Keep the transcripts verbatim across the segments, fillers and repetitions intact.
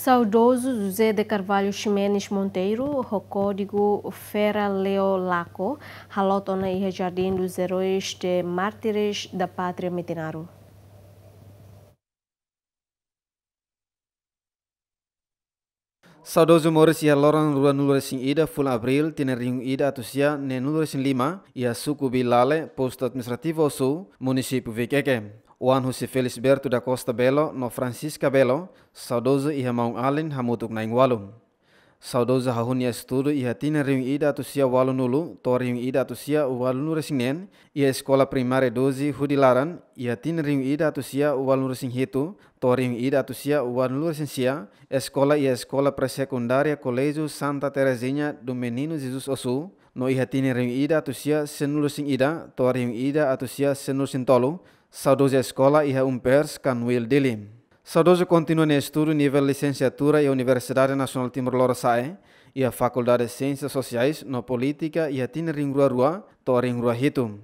Saudozu José de Carvalho Ximenes Monteiro, ho kódigu Fera Leo Laco, haloot ona iha Jardim dos Heróis de Mártires da Pátria Metinaro. Saudozu moris iha loron ruanulu-resin-ida fulan Abríl, tinan rihun ida atus sia neenulu-resin-lima, iha suku Bilale, postu administrativu Ossu, munisípiu Viqueque. Oan husi Felisberto da Costa Belo no Francisca Belo, saudozu iha maun-alin hamutuk na'in-ualu. Saudozu hahú nia estudu iha tinan rihun ida atus sia ualunulu to'o rihun ida atus sia ualunulu-resin-neen, iha Eskola Primária doze hudi laran, iha tinan rihun ida atus sia ualunulu-resin-hitu to'o rihun ida atus sia ualunulu-resin-sia, eskola iha Eskola Pré-Sekundária Colégio Santa Terezinha do Menino Jesus Ossu, no iha tinan rihun ida atus sia sianulu-resin-ida to'o rihun ida atus sia sianulu-resin-tolu, saudozu eskola iha Umpers, Kanwil, Dili. Saudozu kontinua nia estudu nivel lisensiatura iha Universidade Nasionál Timor Lorosa'e, iha Fakuldade Siénsias Sosiais no Polítika iha tinan rihun rua rua to'o rihun rua hitu.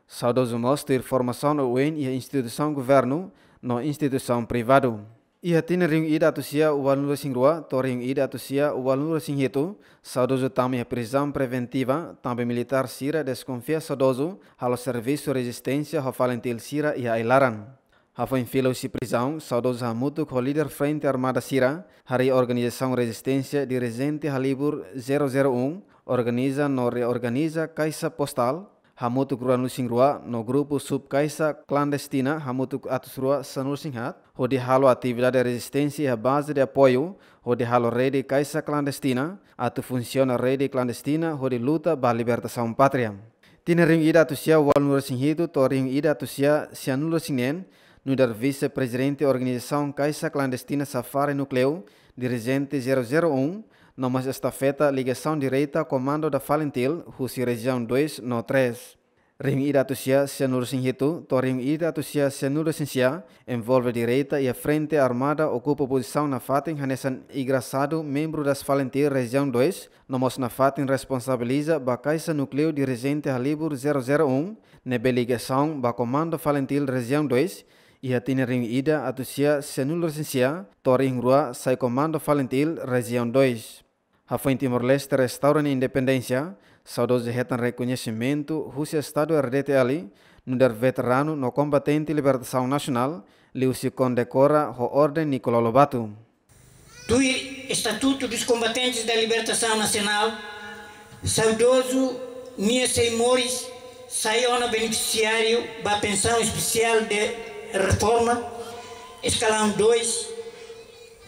Saudozu mós tuir formasaun oioin iha instituisaun governu no instituisaun privadu. Iha tinan rihun ida atus sia ualunulu-resin-rua to'o rihun ida atus sia ualunulu-resin-hitu, saudozu tama iha prizaun preventiva, tanba militár sira deskonfia saudozu halo servisu rezisténsia ho FALINTIL sira iha ai-laran. Hafoin fila husi prizaun, saudozu hamutuk ho líder Frente Armada sira harii organizasaun rezisténsia dirijente halibur zero zero um, organiza no reorganiza kaixa postál hamutuk ruanulu-resin-rua no grupu subkaixa klandestina hamutuk atus rua sanulu-resin-haat, hodi halo atividade rezisténsia iha baze de apoiu, hodi halo rede kaixa klandestina, atu funsiona rede klandestina hodi luta ba libertasaun pátria. Tinan rihun ida atus sia ualunulu-resin-hitu to'o rihun ida atus sia sianulu-resin-neen, nu'udar vise-prezidente organizasaun kaixa klandestina Safari Núkleu, dirijente zero zero um, no mós estafeta ligasaun direta komandu da FALINTIL husi rejiaun dois no três. Rihun ida atus sia sianulu-resin-hitu to'o rihun ida atus sia sianulu-resin-sia, envolve direta iha Frente Armada okupa pozisaun nafatin hanesan engrasadu membru das FALINTIL rejiaun dois, no mós nafatin responsabiliza ba kaixa núkleu dirijente halibur zero zero um, ne'ebé ligasaun ba komandu FALINTIL rejiaun dois, iha tinan rihun ida atus sia sianulu-resin-sia to'o rihun rua sai komandu FALINTIL rejiaun dois. Hafoin Timor-Leste restaura nia independénsia, saudozu hetan rekoñesimentu husi Estadu R D T L, nu'udar veteranu no kombatente libertasaun nasionál, liuhusi kondekora ho Orden Nicolau Lobato. Tuir Estatuto dos Combatentes da Libertação Nacional, saudozu nia sei moris sai ona benefisiáriu ba pensaun espesiál de reforma, eskalaun dois,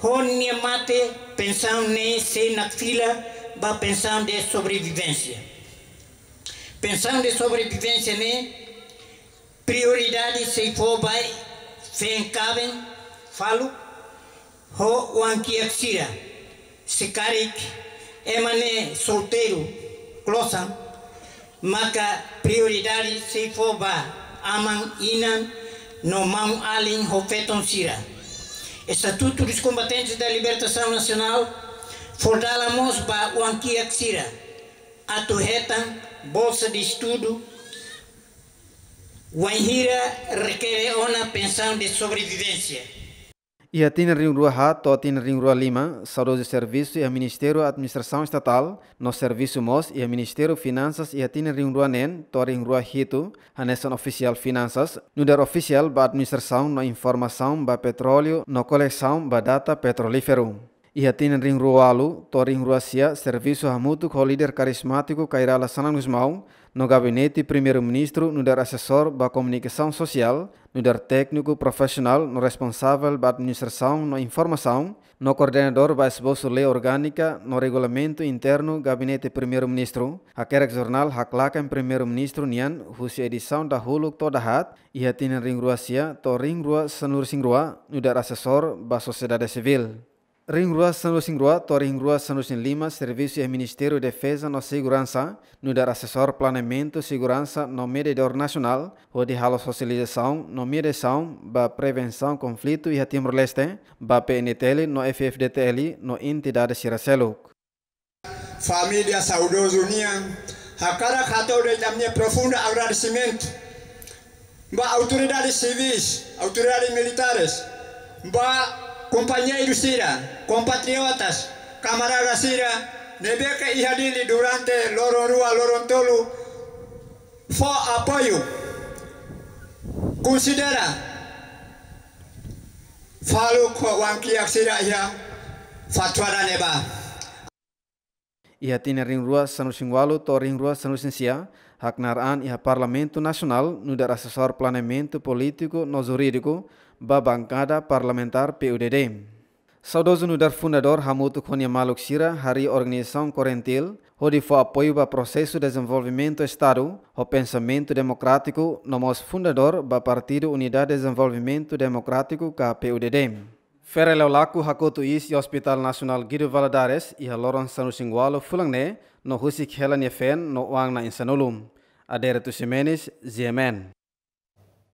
ho nia mate pensaun ne'e sei nakfila ba pensaun de sobrevivénsia. Pensaun de sobrevivénsia ne'e prioridade sei fó ba feen kaben faluk ho oan-kiak sira. Se karik ema ne'e solteiru klosan, maka prioridade sei fó ba aman, inan no maun-alin ho feton sira. Estatuto dos Combatentes da Libertação Nacional fó dalan mós ba oan-kiak sira atu hetan bolsa de estudu, wainhira rekere ona pensaun de sobrevivénsia. Iha tinan rihun rua haat to'o tinan rihun rua lima, saudozu servisu iha Ministériu Administrasaun Estatál, no servisu mós iha Ministériu Finansas iha tinan rihun rua neen to'o rihun rua hitu, hanesan ofisiál finansas, nu'udar ofisiál ba administrasaun no informasaun ba petróleu no kolesaun ba data petrolíferu. Iha tinan rihun rua ualu to'o rihun rua sia, servisu hamutuk ho líder karizmátiku Kay Rala Xanana Gusmão, no gabinete Primeiru-Ministru, nu'udar asesór ba komunikasaun sosiál, nu'udar tékniku profisionál no responsavel ba administrasaun no informasaun, no koordenadór ba esbosu lei orgánika no regulamentu internu Gabinete Primeiru-Ministru, hakerek jornál haklaken Primeiru-Ministru nian husi edisaun dahuluk to'o dahaat, iha tinan rihun rua sia to'o rihun rua sanulu-resin-rua, nu'udar asesór ba sosiedade sivíl. Rihun rua sanulu-resin-rua to'o rihun rua sanulu-resin-lima, servisu iha Ministériu Defeza no Seguransa, nu'udar asesór planeamentu seguransa no mediadór nasionál, hodi halo sosializasaun no mediasaun ba prevensaun konflitu iha Timor-Leste, ba P N T L no F F D T L no entidade sira seluk. Família saudozu nian, hakarak hato'o de'it ami-nia profundu agradesimentu ba autoridades sivis, autoridades militares, ba kompañeiru sira, kompatriotas, kamarada sira ne'ebé ke iha Dili durante loron rua, loron tolu, fó apoiu. Konsidera faluk ho oan-kiak sira iha fatuada ne'ebá. Iha tinan rihun rua sanulu-resin-ualu to'o rihun rua sanulu-resin-sia, haknaar an iha Parlamentu Nasionál nu'udar asesór planeamentu polítiku no jurídiku ba bankada parlamentár P U D D. Saudozu nu'udar fundadór hamutuk ho nia maluk sira harii organizasaun CORENTIL, hodi fó apoiu ba prosesu dezenvolvimentu Estadu ho pensamentu demokrátiku, no mós fundadór ba Partidu Unidade Dezenvolvimentu Demokrátiku ka P U D D. Feira Leolaco hakotu iis iha Hospital Nasionál Guido Valadares iha loron sanulu-resin-ualu fulan ne'e, no husik hela nia feen no oan na'in-sanulu. Adérito Ximenes, G M N.